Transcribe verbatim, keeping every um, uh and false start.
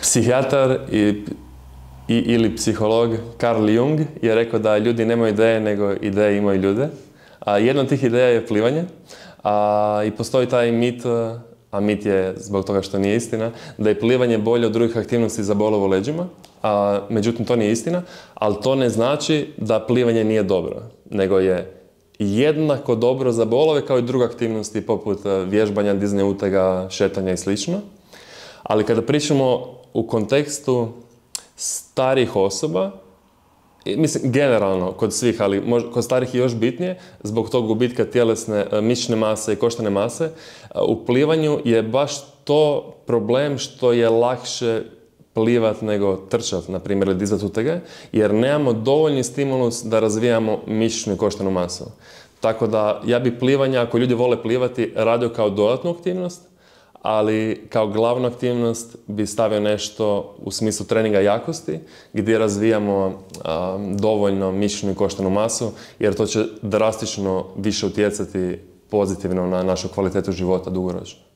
Psihijatar i, i, ili psiholog Carl Jung je rekao da ljudi nemaju ideje, nego ideje imaju ljude. A jedna od tih ideja je plivanje. A, I postoji taj mit, a mit je zbog toga što nije istina, da je plivanje bolje od drugih aktivnosti za bolove u leđima. A, međutim, to nije istina, ali to ne znači da plivanje nije dobro, nego je jednako dobro za bolove kao i druge aktivnosti poput vježbanja, dizanja utega, šetanja i slično. Ali kada pričamo u kontekstu starih osoba, mislim generalno kod svih, ali možda, kod starih je još bitnije, zbog tog gubitka tjelesne mišićne mase i koštane mase, u plivanju je baš to problem što je lakše plivat nego trčat, na primjer, ili dizat utege, jer nemamo dovoljni stimulus da razvijamo mišićnu i koštanu masu. Tako da ja bi plivanje, ako ljudi vole plivati, radio kao dodatnu aktivnost, ali kao glavnu aktivnost bi stavio nešto u smislu treninga jakosti, gdje razvijamo a, dovoljno mišićnu i koštanu masu, jer to će drastično više utjecati pozitivno na našu kvalitetu života dugoročno.